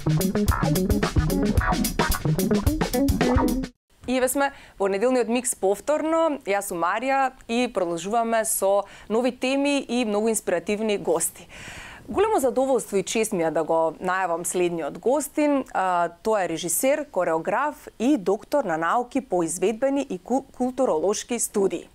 И еве сме во неделниот микс повторно. Јас сум Марија и продолжуваме со нови теми и многу инспиративни гости. Големо задоволство и чест ми е да го најавам следниот гостин. Тој е режисер, кореограф и доктор на науки по изведбени и културолошки студии.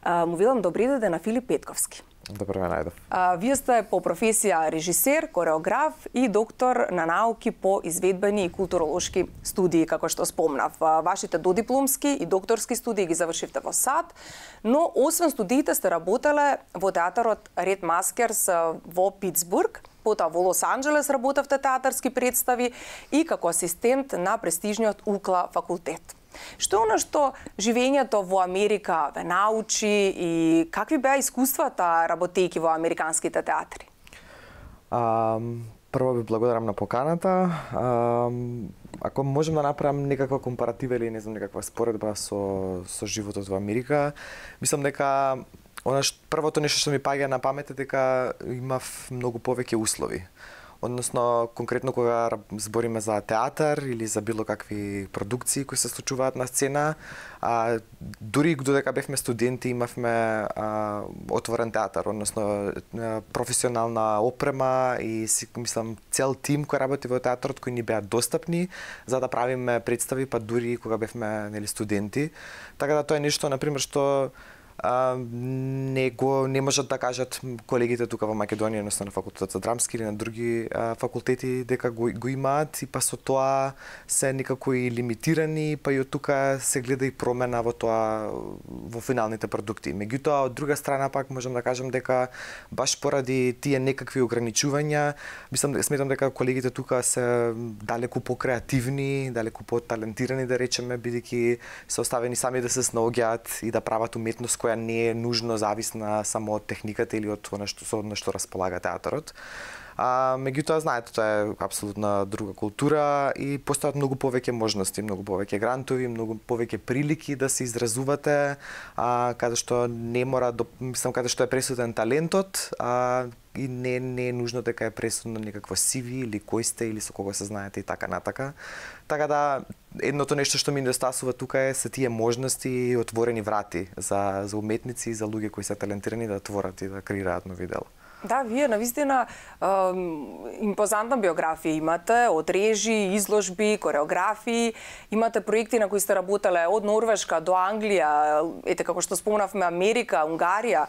Му велам добри дојде на Филип Петковски. Добро ме најдов. Вие сте по професија режисер, кореограф и доктор на науки по изведбени и културолошки студии, како што спомнав. Вашите додипломски и докторски студии ги завршивте во САД, но освен студиите сте работеле во театарот Ред Маскерс во Питсбург, потоа во Лос Анџелес работевте театарски представи и како асистент на престижниот УКЛА факултет. Што е она што живењето во Америка ве научи и какви беа искуствата работејќи во американските театри? Прво ви благодарам на поканата. Ако можем да направам некаква компаратива или не знам некаква споредба со животот во Америка, мислам дека првото нешто што ми паѓа на памет е дека имав многу повеќе услови. Односно, конкретно кога збориме за театар или за било какви продукции кои се случуваат на сцена, дури додека бевме студенти имавме отворен театар, односно професионална опрема и мислам цел тим кој работи во театарот кои ни беа достапни за да правиме представи, па дури кога бевме студенти. Така да тоа е нешто на пример што не можат да кажат колегите тука во Македонија, односно на факултетот за драмски или на други факултети дека го имаат и па со тоа се некако и лимитирани, па и од тука се гледа и промена во тоа во финалните продукти. Меѓутоа од друга страна пак можам да кажам дека баш поради тие некакви ограничувања, сметам дека колегите тука се далеку покреативни, далеку поталентирани да речеме, бидејќи се оставени сами да се снаоѓаат и да прават уметност која не е нужно зависна само од техниката или од она што располага театарот. Меѓутоа, знаете, тоа е апсолутна друга култура и постојат многу повеќе можности, многу повеќе грантови, многу повеќе прилики да се изразувате, каде што не мора, мислам, каде што е пресуден талентот, и не е нужно дека е пресудно некакво CV или кој сте или со кого се знаете и така натака. Така да, едното нешто што ми недостасува тука е се тие можности и отворени врати за уметници и за луѓе кои се талентирани да творат и да креираат нови дела. Да, вие навистина импозантна биографија имате, од режи, изложби, кореографии, имате проекти на кои сте работеле од Норвешка до Англија, ете како што спомнавме Америка, Унгарија.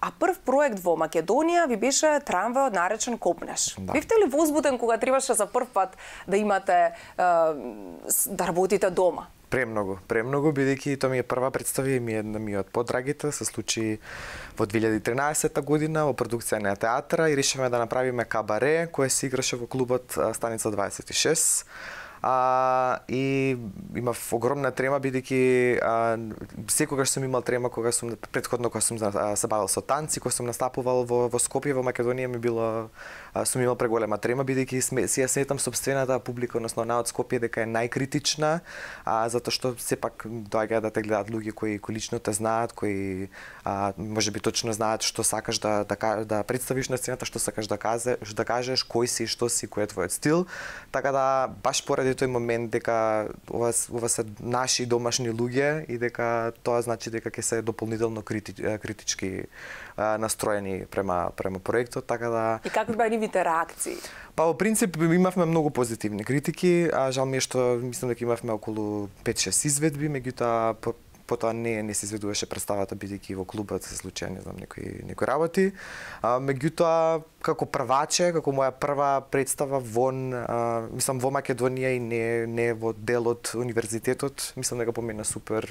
А прв проект во Македонија ви беше трамвајот наречен Копнеш. Да. Бевте ли возбуден кога требаше за прв пат да имате да работите дома? Премногу, бидејќи тоа ми е прва представа и ми е од подрагите, се случи во 2013 година во продукција на театра и решивме да направиме кабаре кој се играше во клубот Станица 26. И имав огромна трема бидејќи секогаш сум имал трема кога сум се бавил со танци, кога сум настапувал во Скопје, во Македонија сум имал преголема трема бидејќи си ја сметам сопствената публика, односно од Скопје дека е најкритична, затоа што сепак доаѓаат да те гледаат луѓе кои лично те знаат, кои можеби точно знаат што сакаш да представиш на сцената, што сакаш да кажеш, кој си, што си, кој е твојот стил. Така да баш поради тој момент дека ова се наши домашни луѓе и дека тоа значи дека ќе се дополнително критички настроени према проектот, така да. И какви беа нивните реакции? Па во принцип имавме многу позитивни критики, жал ми е што мислам дека имавме околу 5-6 изведби, меѓутоа потоа не се изведуваше представата бидејќи во клубот се случија не знам некои работи. Меѓутоа како прваче, како моја прва представа во Македонија и не во дел од универзитетот, мислам дека помина супер.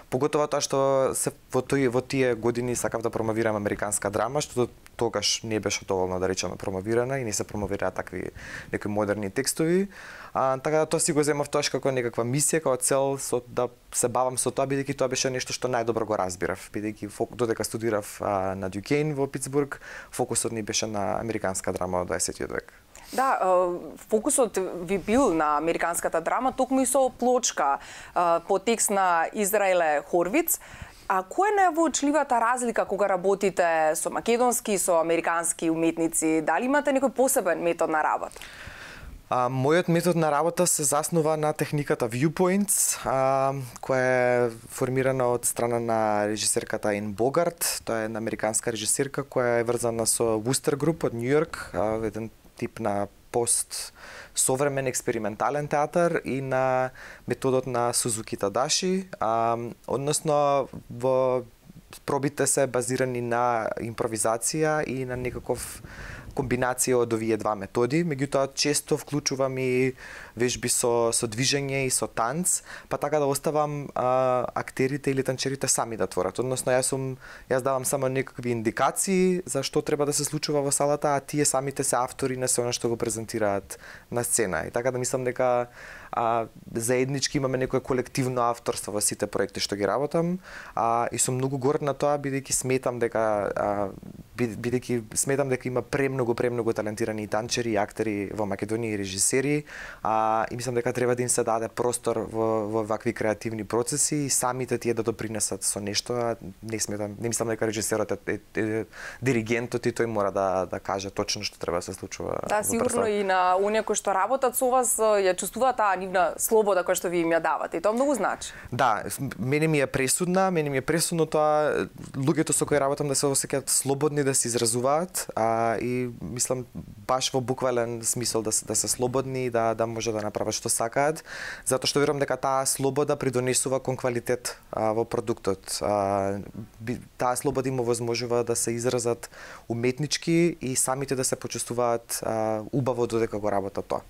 Поготово тоа што во тие години сакав да промовирам американска драма, што тогаш не беше доволно да речеме промовирана и не се промовираа такви некои модерни текстови. Така да тоа си го земав тоа како некаква мисија, како цел да се бавам со тоа, бидејќи тоа беше нешто што најдобро го разбирав, бидејќи додека студирав на Дюкейн во Питсбург, фокусот ни беше на американска драма од 20 век. Да, фокусот ви бил на американската драма, токму и со плочка по текст на Израеле Хорвиц. А која е највоочливата разлика кога работите со македонски и со американски уметници? Дали имате некој посебен метод на работа? Мојот метод на работа се заснува на техниката Viewpoints, која е формирана од страна на режисерката Ен Богарт. Тоа е една американска режисерка која е врзана со Wooster Group од Њу Йорк, еден тип на современ експериментален театар, и на методот на Сузуки Тадаши, односно во пробите се базирани на импровизација и на некаков комбинација од овие два методи, меѓутоа често вклучувам и вежби со движење и со танц, па така да оставам актерите или танчерите сами да творат. Односно јас давам само некакви индикации за што треба да се случува во салата, а тие самите се автори на се она што го презентираат на сцена. И така да мислам дека заеднички имаме некое колективно авторство во сите проекти што ги работам, и сум многу горд на тоа, бидејќи сметам дека има премногу талентирани танчери и актери во Македонија и режисери, и мислам дека треба да им се даде простор во вакви креативни процеси и самите тие да допринесат со нешто. Не мислам дека режисерот е диригентот и тој мора да каже точно што треба да се случува. Да, сигурно и на оние кои што работат со вас ја чувствуваат таа нивна слобода која што ви им ја давате, и тоа многу значи. Да, мене ми е пресудно тоа луѓето со кои работам да се осеќаат слободни да се изразуваат, и мислам баш во буквален смисол да се слободни и да може да направат што сакаат, затоа што верувам дека таа слобода придонесува кон квалитет во продуктот. Таа слобода им овозможува да се изразат уметнички и самите да се почувствуваат убаво додека го работат тоа.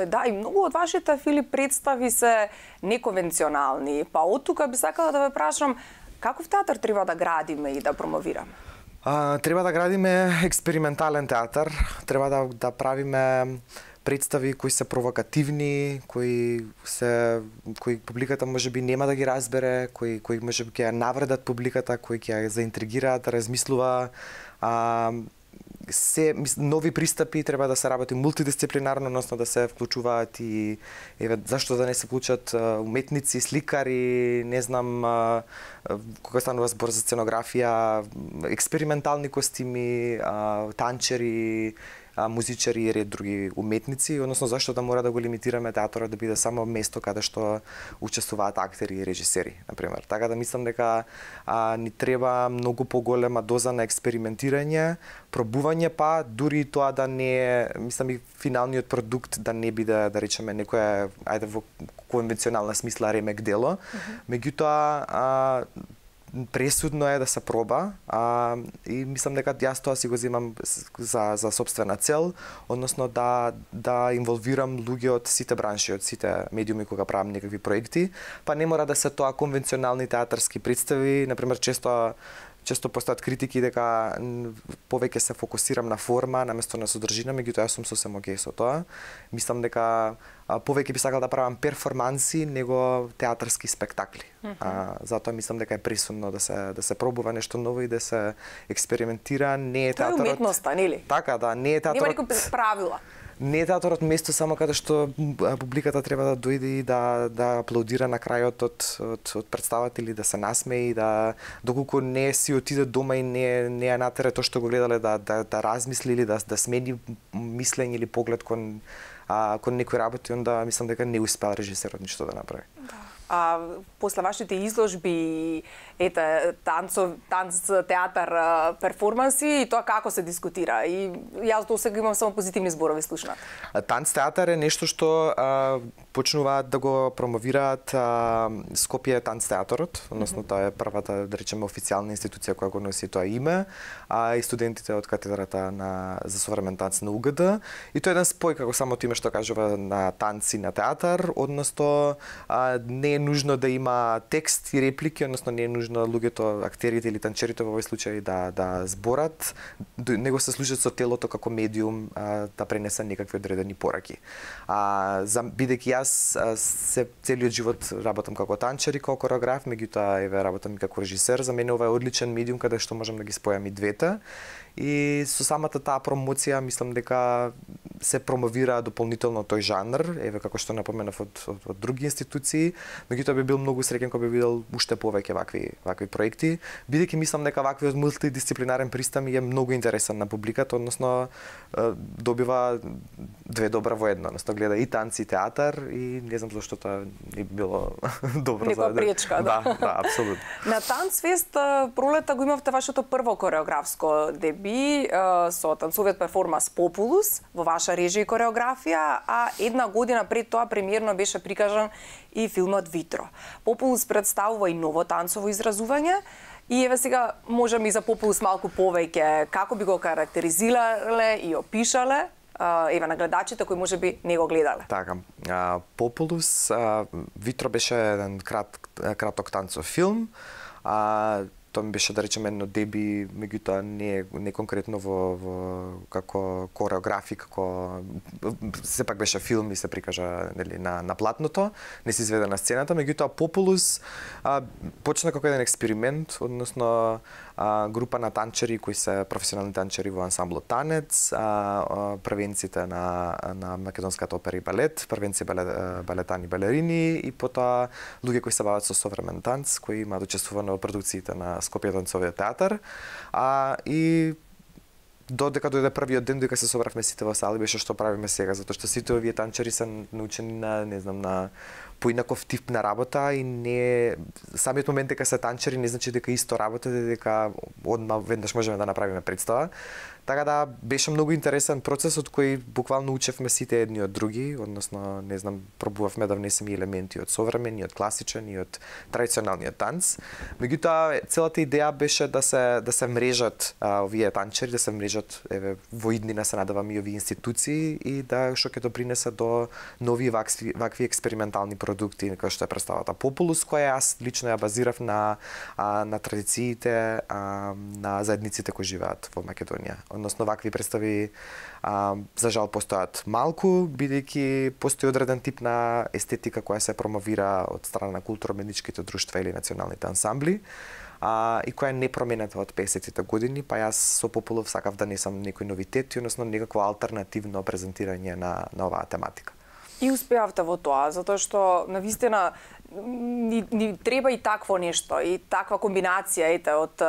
Да, и многу од вашите, Филип, представи се неконвенционални. Па од тука би сакала да ве прашам, каков театар треба да градиме и да промовираме? Треба да градиме експериментален театар, треба да правиме представи кои се провокативни, кои публиката можеби нема да ги разбере, кои можеби ќе ја навредат публиката, кои ќе ја заинтригираат, да размислува. Нови пристапи, треба да се работи мултидисциплинарно, односно да се вклучуваат и зашто да не се вклучат уметници, сликари, не знам, кога станува збор за сценографија, експериментални костими, танчери, музичари и ред други уметници, односно зашто да мора да го лимитираме театарот да биде само место каде што учествуваат актери и режисери, например. Така да мислам дека ни треба многу поголема доза на експериментирање, пробување, па дури тоа да не е, мислам и финалниот продукт да не биде, да речеме, некоја, ајде во конвенционална смисла ремек дело, меѓутоа пресудно е да се проба, и мислам дека јас тоа си го земам за собствена цел, односно да инволвирам луѓе од сите бранши, од сите медиуми кога правам некакви проекти, па не мора да се тоа конвенционални театарски представи, например често постојат критики дека повеќе се фокусирам на форма наместо на содржина, меѓутоа јас сум сосем окей со тоа. Мислам дека повеќе би сакал да правам перформанси него театарски спектакли. Затоа мислам дека е пресудно да се пробува нешто ново и да се експериментира. Не е театарот. Тоа е уметноста, нели? Така, да, не е театарот. Нема никакви правила. Не е театарот место само каде што публиката треба да дојде и да аплаудира на крајот од представата или да се насмее, и доколку не си отиде дома и не ја натере тоа што го гледале да размисли или да смени мислење или поглед кон некои работи, онда мислам дека не успеал режисерот ништо да направи. После вашите изложби, танц, театар, перформанси, и тоа како се дискутира? И јас до сега имам само позитивни зборови слушнат. Танц театар е нешто што почнуваат да го промовираат Скопје танц театарот, односно тоа е првата, да речеме, официјална институција која го носи тоа име, и студентите од катедрата за современ танц на УГД. И тоа е еден спој, како самото име што кажува, на танц и на театар, односно не е нужно да има текст и реплики, односно не е нужно луѓето, актерите или танчерите во овој случај да зборат, него се служат со телото како медиум да пренесат некакви одредени пораки. Бидејќи јас целиот живот работам како танчер и како кореограф, меѓутоа работам и како режисер, за мене ова е одличен медиум каде што можам да ги спојам и двете. и со самата таа промоција мислам дека се промовира дополнително тој жанр, еве како што напоменав од други институции, меѓутоа би бил многу среќен кога би видел уште повеќе вакви проекти, бидејќи мислам дека ваквиот мултидисциплинарен пристап е многу интересен на публиката, односно добива две добра во едно, односно гледа и танци, и театар и не знам зашто тоа не би било добро за некоја пречка, да. Да, апсолутно. На Танцфест пролета го имавте вашето прво кореографско деби со танцовиот перформанс Популус во ваша режија и кореографија, а една година пред тоа премиерно беше прикажан и филмот Витро. Популус представува и ново танцово изразување. И еве сега можеме и за Популус малку повеќе, како би го карактеризирале и опишале, еве на гледачите кои можеби не го гледале. Така, Популус, Витро беше еден краток танцов филм, тоа ми беше да речеме едно деби, меѓутоа не конкретно во како кореографи, како сепак беше филм и се прикажа нели на платното, не се изведе на сцената, меѓутоа Популус почна како еден експеримент, односно група на танчери кои се професионални танчери во ансамблот Танец, првенците на македонската опера и балет, првенци балетани балерини и потоа луѓе кои се бават со современ танц, кои имаат учествувано во продукциите на Скопје танцовиот театар, и додека дојде првиот ден, дека се собравме сите во сали, беше што правиме сега, затоа што сите овие танчери се научени на, не знам, на поинаков тип на работа и не самиот момент дека се танчери не значи дека исто работате, дека одма веднаш можеме да направиме представа. Така да беше многу интересен процес од кој буквално учевме сите едни од други, односно не знам, пробувавме да внесеме елементи од современ, и од класичен, и од традиционалниот танц. Меѓутоа целата идеја беше да се мрежат овие танчери, да се мрежат еве во иднина се надевам и овие институции и да што ќе допринесе до нови вакви експериментални продукти кои што е представата Популус, која јас лично ја базирав на традициите на заедниците кои живеат во Македонија. Односно вакви представи за жал постојат малку, бидејќи постои одреден тип на естетика која се промовира од страна на културно-медичките друштва или националните ансамбли, и која не променета од 50-тите години, па јас со Популов сакав да несам некои новитети, односно некакво алтернативно презентирање на оваа тематика. И успеавте во тоа, затоа што навистина ни треба и такво нешто, и таква комбинација од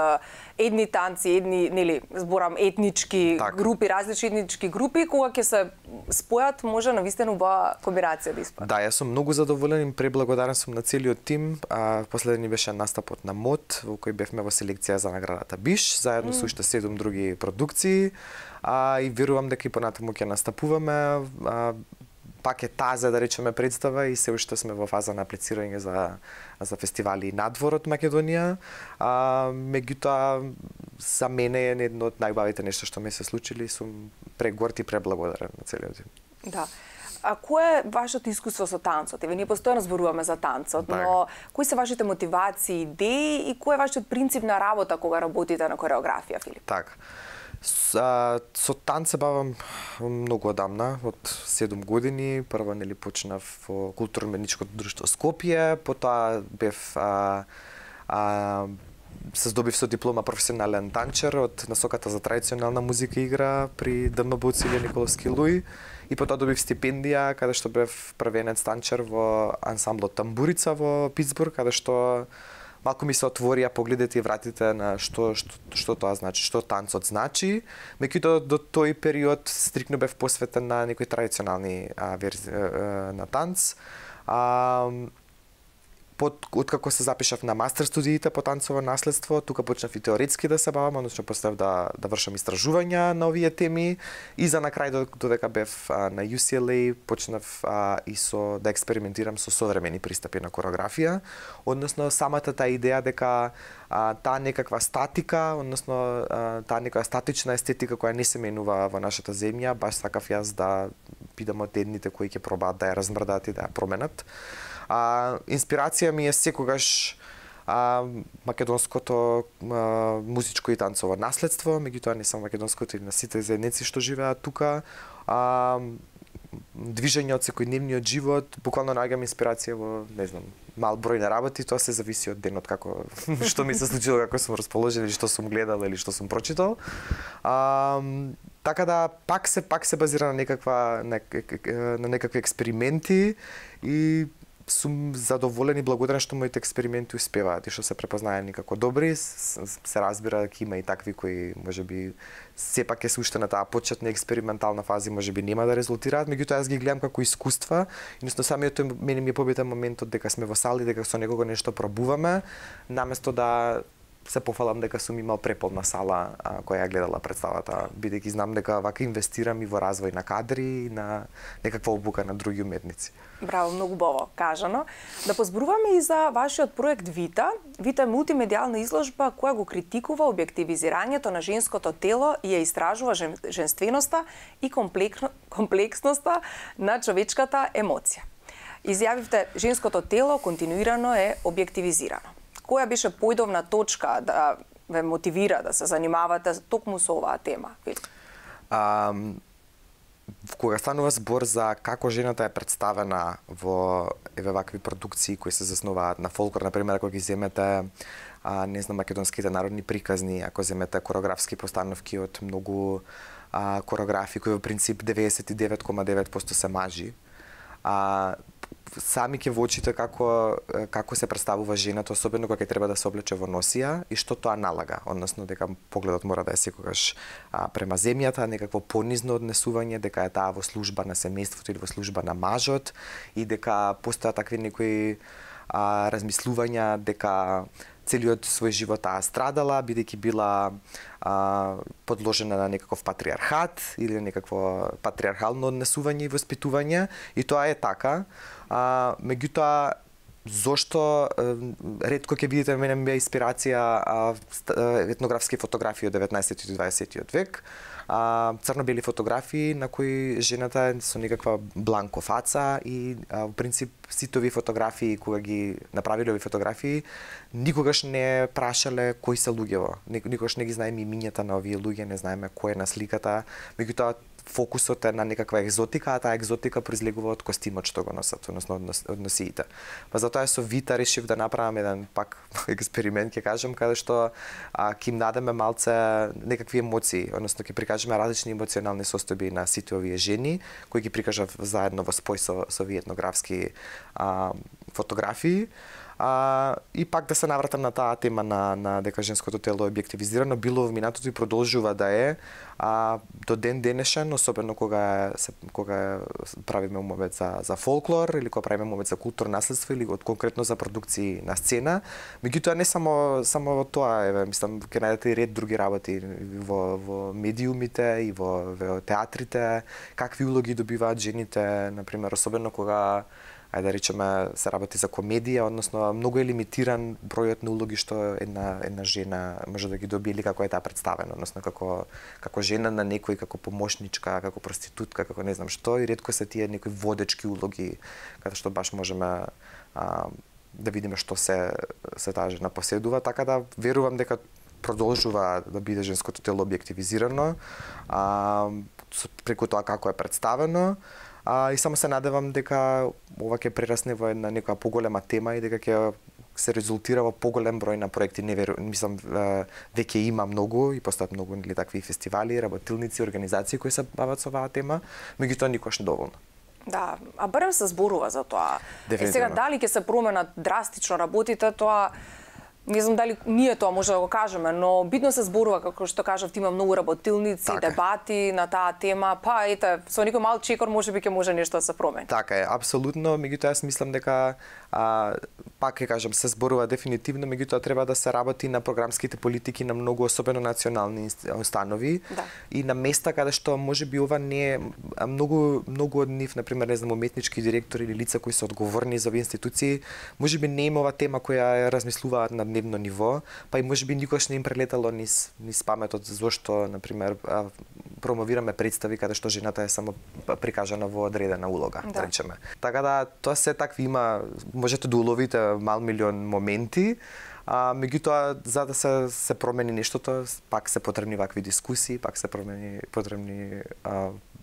едни танци, едни, нели, зборам етнички групи, различни етнички групи, кога ќе се спојат, може навистина убава комбинација да испаде. Да, јас сум многу задоволен и преблагодарен сум на целиот тим. Последен беше настапот на МОД, во кој бевме во селекција за наградата Биш, заедно со уште 7 други продукции, и верувам дека и понатаму ќе настапуваме. Пак е таза, да речеме, представа и се уште сме во фаза на аплицирање за фестивали надвор од Македонија. Меѓутоа, за мене е едно од најубавите нешто што ми се случили, сум прегорд и преблагодарен на целиот тим. Да. А кое е вашето искуство со танцот? Еве ние постојано зборуваме за танцот, но кои се вашите мотивации, идеи и кој е вашиот принцип на работа кога работите на кореографија, Филип? Така. Со танц се бавам многу одамна, од 7 години. Прво нели почнав во културно-медичкото друштво Скопје, потоа бев се здобив со диплома професионален танчер од насоката за традиционална музика и игра при ДМБ Цилија Николовски Луј и потоа добив стипендија каде што бев првенец танчер во ансамблот Тамбурица во Питсбург, каде што малку ми се отворија погледите и вратите на што тоа значи, што танцот значи. Меѓутоа до тој период стрикно бев посветен на некои традиционални верзии на танц. Откако се запишав на мастер студиите по танцово наследство, тука почнав и теоретски да се бавам, односно почнав да вршам истражувања на овие теми и за на крај додека бев на UCLA почнав и да експериментирам со современи пристапи на кореографија, односно самата таа идеја дека таа некаква статика, односно таа некоја статична естетика која не се менува во нашата земја, баш сакав јас да бидам од едните кои ќе пробаат да ја размрдаат и да ја променат. Инспирација ми е секогаш македонското музичко и танцово наследство, меѓутоа не само македонското и на сите заедници што живеат тука. движење од секојдневниот живот, буквално наоѓам инспирација во, не знам, мал број на работи, тоа се зависи од денот како што ми се случило, како сум расположен или што сум гледал или што сум прочитал. Така да пак се базира на некакви експерименти и сум задоволен и благодарен што моите експерименти успеваат и што се препознаени како добри. Се разбира дека има и такви кои можеби сепак е уште на таа почетна експериментална фаза, можеби нема да резултираат, меѓутоа јас ги гледам како искуства, едноставно самиот мене ми е побитен моментот дека сме во сали, дека со некого нешто пробуваме, наместо да се пофалам дека сум имал преполна сала која ја гледала представата, бидејќи знам дека вака инвестирам и во развој на кадри и на некаква обука на други уметници. Браво, многу убаво кажано. Да позборуваме и за вашиот проект Вита. Вита е мултимедијална изложба која го критикува објективизирањето на женското тело и ја истражува женственоста и комплексноста на човечката емоција. Изјавивте, женското тело континуирано е објективизирано. Која беше појдовна точка да ве мотивира да се занимавате токму со оваа тема? Кога станува збор за како жената е представена во вакви продукции кои се заснуваат на фолклор, например, ако ги земете не знам, македонските народни приказни, ако земете кореографски постановки од многу кореографи кои во принцип 99,9% се мажи, сами ќе во очите како се представува жената, особено кога ќе треба да се облече во носија и што тоа налага, односно дека погледот мора да е секогаш према земјата, некакво понизно однесување, дека е таа во служба на семејството или во служба на мажот и дека постојат такви некои размислувања дека целиот свој живот таа страдала, бидејќи била подложена на некаков патриархат или некакво патриархално однесување и воспитување, и тоа е така. Меѓутоа, зошто ретко ќе видите мене ми беа инспирација етнографски фотографии од 19 и 20 век, црно-бели фотографии на кои жената е со некаква бланко фаца и во принцип сите овие фотографии кога ги направиле овие фотографии никогаш не прашале кои се луѓево, никогаш не ги знаеме имињата на овие луѓе, не знаеме кој е на сликата, меѓутоа фокусот е на некаква екзотика, а таа екзотика произлегува од костимот што го носат, односно од носиите. Па затоа со Вита решив да направам еден пак експеримент, ќе кажам, каде што ќе им дадеме малце некакви емоции, односно ќе прикажеме различни емоционални состојби на сите овие жени, кои ги прикажав заедно во спој со овие етнографски фотографии. И пак да се навратам на таа тема на дека женското тело е објективизирано, било во минатото и продолжува да е, до ден денешен, особено кога правиме умовет за фолклор или кога правиме умовет за културно наследство или конкретно за продукции на сцена. Меѓутоа не само тоа, мислам ќе најдете и ред други работи во медиумите и во театрите, какви улоги добиваат жените, например, особено кога ајде да речеме се работи за комедија, односно многу е лимитиран бројот на улоги што една жена може да ги добие или како е таа представена, односно како жена на некој, како помошничка, како проститутка, како не знам што, и ретко се тие некои водечки улоги каде што баш можеме да видиме што се таа жена поседува, така да верувам дека продолжува да биде женското тело објективизирано преку тоа како е представено. И само се надевам дека ова ќе прерасне во една некоја поголема тема и дека ќе се резултира во поголем број на проекти. Мислам, веќе има многу и постојат многу такви фестивали, работилници, организации кои се бават со оваа тема, меѓутоа никош недоволно. Да, а барем се зборува за тоа. Сега дали ќе се променат драстично работите, тоа не знам дали ние тоа може да го кажеме, но битно се зборува, како што кажавте, има многу работилници, дебати на таа тема, па ете, со некој мал чекор можеби ќе може нешто да се промени. Така е, апсолутно, меѓутоа јас мислам дека пак ќе кажам, се зборува дефинитивно, меѓутоа треба да се работи на програмските политики на многу особено национални установи и на места каде што можеби ова не е многу од нив, например, не знам, уметнички директори или лица кои се одговорни за овие институции, можеби не има ова тема која ја размислуваат на дневно ниво, па и можеби никош не им прелетало низ паметот зошто, например, промовираме представи каде што жената е само прикажана во одредена улога, да речеме. Така да тоа се такви има, можете да уловите мал милион моменти, меѓутоа за да се промени нештото, пак се потребни вакви дискусии, пак се потребни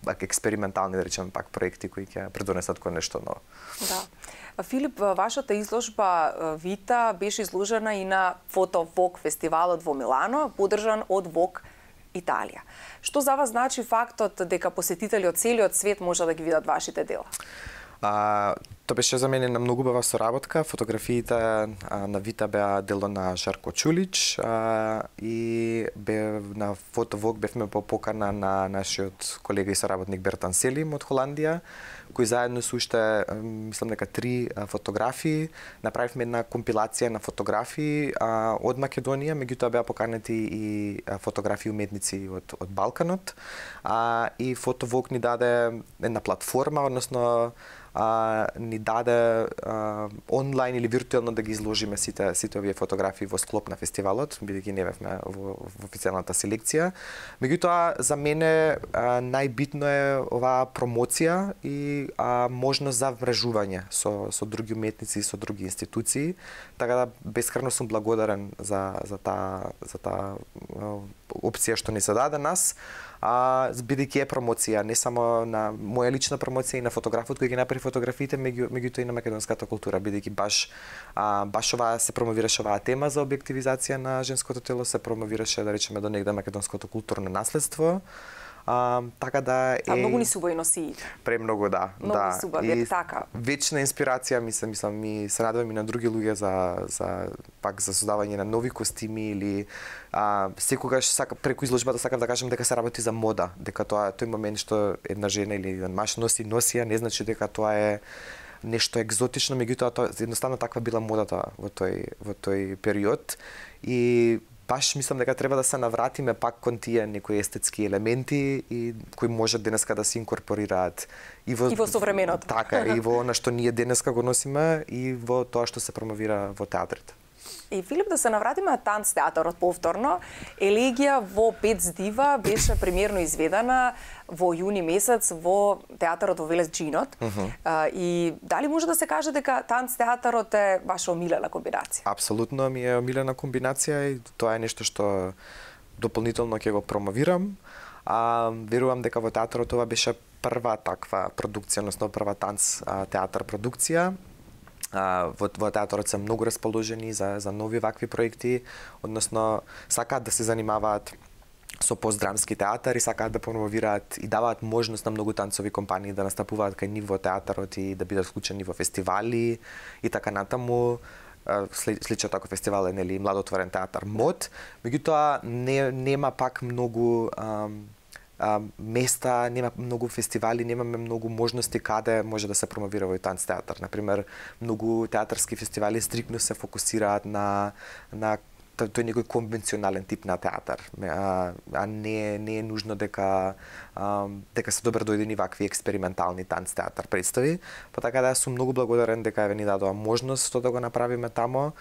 експериментални, да речеме, пак проекти кои ќе предонесат кон нешто ново. Да. Филип, вашата изложба Вита беше изложена и на Фото Вог фестивалот во Милано, поддржан од Вог Италија. Што за вас значи фактот дека посетители од целиот свет може да ги видат вашите дела? Тоа беше за мене на многу убава соработка. Фотографиите на Вита беа дело на Жарко Чулич и на Фото Вог бевме по покана на нашиот колега и соработник Бертан Селим од Холандија, кои заедно со уште, мислам дека 3 фотографии, направивме една компилација на фотографии од Македонија, меѓутоа беа поканети и фотографии уметници од Балканот. И Фото Вог ни даде една платформа, односно ни даде онлайн или виртуелно да ги изложиме сите овие фотографии во склоп на фестивалот, бидејќи не бевме во официјалната селекција. Меѓутоа, за мене најбитно е оваа промоција и можност за вмрежување со други уметници и со други институции. Така да бескрајно сум благодарен за таа опција што ни се даде нас. Бидејќи е промоција, не само на моја лична промоција и на фотографот кој ги направи фотографиите, меѓутоа и на македонската култура, бидејќи баш оваа се промовираше оваа тема за објективизација на женското тело, се промовираше, да речеме, до негде македонското културно наследство. Така да е... многу ни се убави носиите. Премногу, да. Многу ни се убави, така. Вечна инспирација, мислам, и се надевам и на други луѓе за создавање на нови костими или секогаш преку изложбата сакав да кажам дека се работи за мода, дека тој момент што една жена или еден маж носи носија, не значи дека тоа е нешто екзотично, меѓутоа едноставно таква била модата во тој период и баш мислам дека треба да се навратиме пак кон тие некои естетски елементи и кои можат денеска да се инкорпорираат и во современото. Така, и во она што ние денеска го носиме и во тоа што се промовира во театрите. И Филип, да се навратиме на танц театарот повторно. Елегија во Пет дива беше премиерно изведена во јуни месец во театарот во Велес Джинот. И дали може да се каже дека танц театарот е ваша омилена комбинација? Апсолутно ми е омилена комбинација и тоа е нешто што дополнително ќе го промовирам. Верувам дека во театарот ова беше прва таква продукција, односно прва танц театар продукција. Во театарот се многу расположени за нови вакви проекти, односно сакаат да се занимаваат со постдрамски театар и сакаат да промовираат и даваат можност на многу танцови компании да настапуваат кај нив во театарот и да бидат вклучени во фестивали и така натаму. Слично таков фестивал е нели младотворен театар МОД, меѓутоа нема пак многу места, нема многу фестивали, немаме многу можности каде може да се промовира овој танц театар. Например, многу театарски фестивали стрикно се фокусираат на тој некој конвенционален тип на театар, не е нужно дека се добро дојдени вакви експериментални танц театар представи. Па така да сум многу благодарен дека ни дадоа можност да го направиме тамо.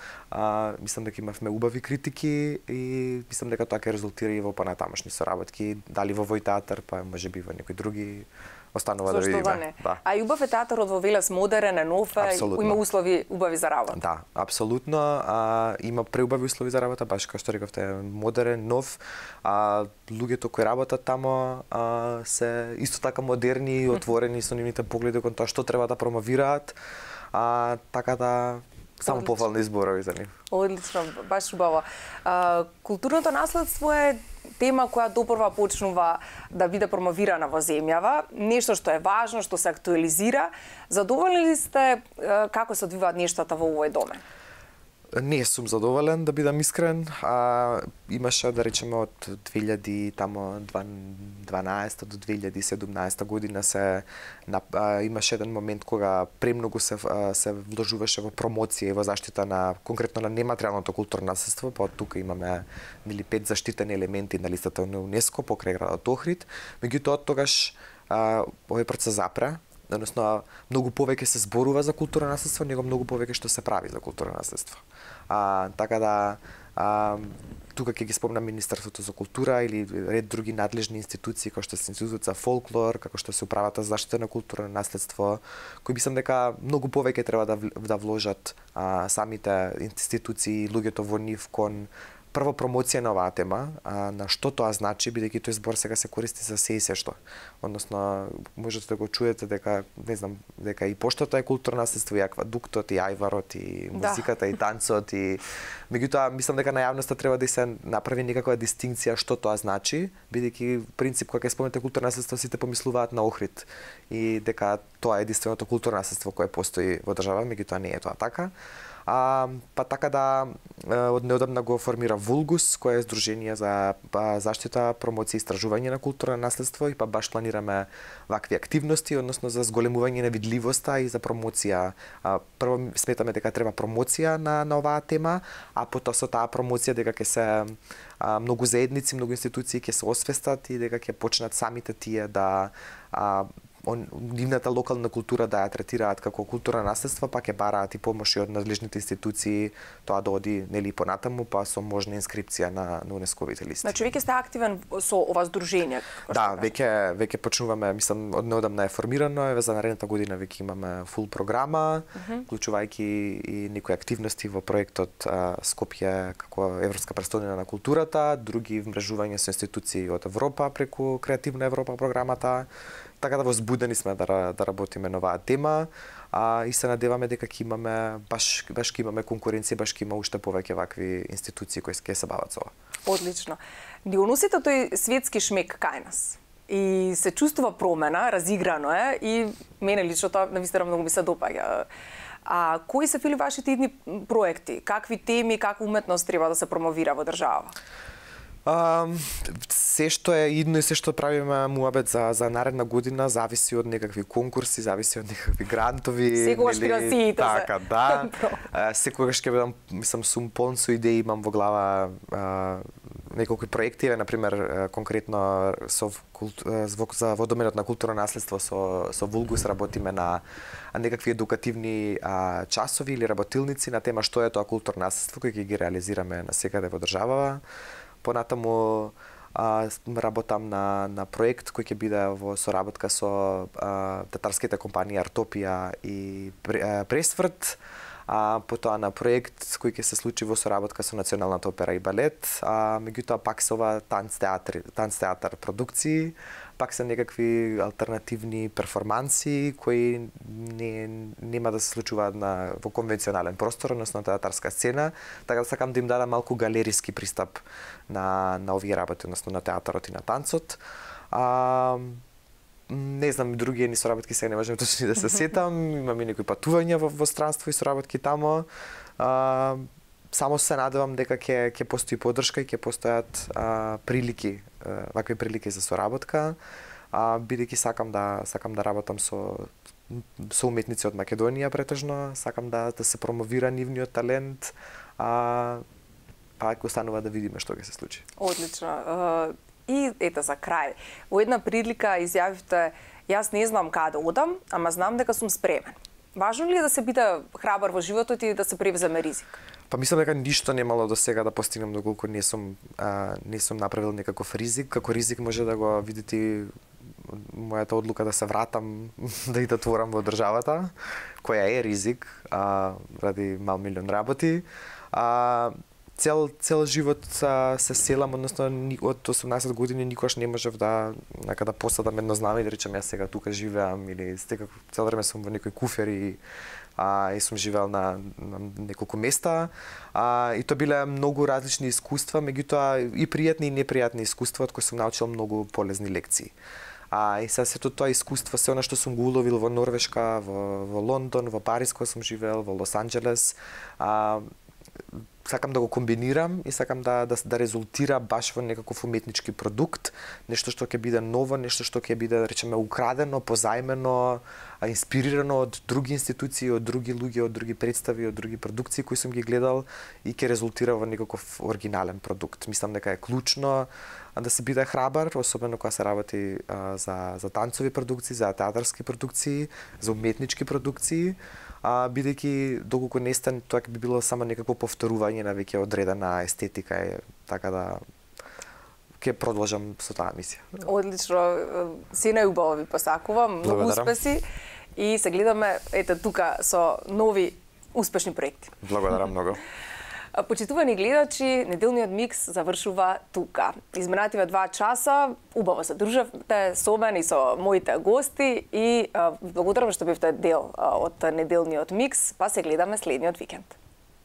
Мислам дека имавме убави критики и мислам дека тоа ќе резултира и во понатамошни соработки, дали во овој театар, па можеби во некои други останува да видиме. Да. А и убав е театарот во Велес, модерен, е нов, има услови убави за работа. Да, апсолутно. Има преубави услови за работа, баш како што рековте, модерен, нов. Луѓето кои работат тамо се исто така модерни и отворени со нивните погледи кон тоа што треба да промовираат. Така да само пофални зборови за нив. Одлично, баш убаво. Културното наследство е тема која допрва почнува да биде промовирана во земјава, нешто што е важно, што се актуализира. Задоволни ли сте како се одвиваат нештата во овој домен? Не сум задоволен, да бидам искрен. Имаше, да речеме, од 2012 до 2017 година имаше еден момент кога премногу се вложуваше во промоција и во заштита на конкретно на нематеријалното културно наследство, па од тука имаме 5 заштитени елементи на листата на УНЕСКО покрај градот Охрид. Меѓутоа од тогаш овој процес запре. Односно, многу повеќе се зборува за културно наследство, него многу повеќе што се прави за културно наследство. Така да, тука ќе ги спомнам Министерството за култура или ред други надлежни институции, како што се Институтот за фолклор, како што се Управата за заштита на културно наследство, кои мислам дека многу повеќе треба да вложат самите институции и луѓето во нив кон прво промоција на оваа тема, на што тоа значи, бидејќи тој збор сега се користи за се и се што. Односно, можете да го чуете дека, не знам, дека и поштата е културно наследство, и аквадуктот, и ајварот, и музиката, и танцот, и меѓутоа мислам дека на јавноста треба да се направи некаква дистинкција што тоа значи, бидејќи принцип кога ќе спомнете културно наследство сите помислуваат на Охрид и дека тоа е единственото културно наследство кое постои во држава, меѓутоа не е тоа така. Па така да од неодамна го формира Вулгус, кое е здружение за заштита, промоција и истражување на културно наследство, и па баш планираме вакви активности, односно за зголемување на видливоста и за промоција. Прво сметаме дека треба промоција на оваа тема, а потоа со таа промоција дека ќе се многу заедници, многу институции ќе се освестат и дека ќе почнат самите тие да нивната локална култура да ја третираат како културно наследство, па ќе бараат и помоши од надлежните институции тоа да оди нели понатаму, па со можна инскрипција на УНЕСКО-вите листи. Значи веќе сте активен со ова здружение? Да, веќе почнуваме, мислам, од неодамна е формирано, за наредната година веќе имаме фул програма, вклучувајќи и некои активности во проектот Скопје како Европска престолнина на културата, други вмрежувања со институции од Европа преку Креативна Европа програмата. Така да возбудени сме да работиме на оваа тема, и се надеваме дека ќе имаме баш ќе имаме конкуренција, баш ќе има уште повеќе вакви институции кои ќе се бават со ова. Одлично. Ни уносите тој светски шмек кај нас. И се чувствува промена, разиграно е, и мене лично тоа навистина многу ми се допаѓа. А кои се фили вашите идни проекти? Какви теми, каква уметност треба да се промовира во држава? Се што е идно и се што правиме муабет за наредна година зависи од некакви конкурси, зависи од некакви грантови. Секогаш финансиите. Така, да. Секогаш ќе бидам, мислам, сум полн со идеи, имам во глава неколку проекти, например, конкретно за во доменот на културно наследство со Вулгус работиме на некакви едукативни часови или работилници на тема што е тоа културно наследство кои ќе ги реализираме насекаде во државава. Понатаму работам на проект кој ќе биде во соработка со татарските компании Артопија и Пресврт, потоа на проект кој ќе се случи во соработка со Националната опера и балет, меѓутоа пак со ова танц театар продукции, пак се некакви алтернативни перформанси кои нема да се случуваат во конвенционален простор, односно на театарска сцена, така да сакам да им дадам малку галериски пристап на овие работи, односно на театарот и на танцот. Не знам, други соработки сега не можам точно да се сетам, имам и некои патувања во странство и соработки тамо. Само се надевам дека ќе постои поддршка и ќе постојат прилики, вакви прилики за соработка, бидејќи сакам да работам со уметници од Македонија претежно, сакам да се промовира нивниот талент, па ќе останува да видиме што ќе се случи. Одлично. И ете за крај, во една прилика изјавивте: јас не знам каде одам, ама знам дека сум спремен. Важно ли е да се биде храбар во животот и да се превземе ризик? Па мислам дека ништо немало до сега да постигнам доколку не сум направил некаков ризик. Како ризик може да го видите мојата одлука да се вратам да творам во државата, која е ризик ради мал милион работи. Цел живот се селам, односно од 18 години никош не можев да посадам едно знаме и да речам јас сега тука живеам, или цел време сум во некои куфери и сум живеал на неколку места, и тоа биле многу различни искуства, меѓутоа и пријатни и непријатни искуства од кои сум научил многу полезни лекции. И сега сето тоа искуство, се она што сум го уловил во Норвешка, во Лондон, во Париз кој сум живеел, во Лос Анџелес, сакам да го комбинирам и сакам да резултира баш во некаков уметнички продукт, нешто што ќе биде ново, нешто што ќе биде, да речеме, украдено, позајмено, инспирирано од други институции, од други луѓе, од други представи, од други продукции кои сум ги гледал и ќе резултира во некаков оригинален продукт. Мислам дека е клучно да се биде храбар, особено кога се работи за танцови продукции, за театарски продукции, за уметнички продукции, бидејќи доколку не стане тоа би било само некакво повторување на веќе одредена естетика, така да ќе продолжам со таа мисија. Одлично, се најубаво ви посакувам, многу успеси и се гледаме ете тука со нови успешни проекти. Благодарам многу. Почитувани гледачи, неделниот микс завршува тука. Изминативе 2 часа убаво се дружевте со мене и со моите гости и благодарам што бевте дел од неделниот микс, па се гледаме следниот викенд.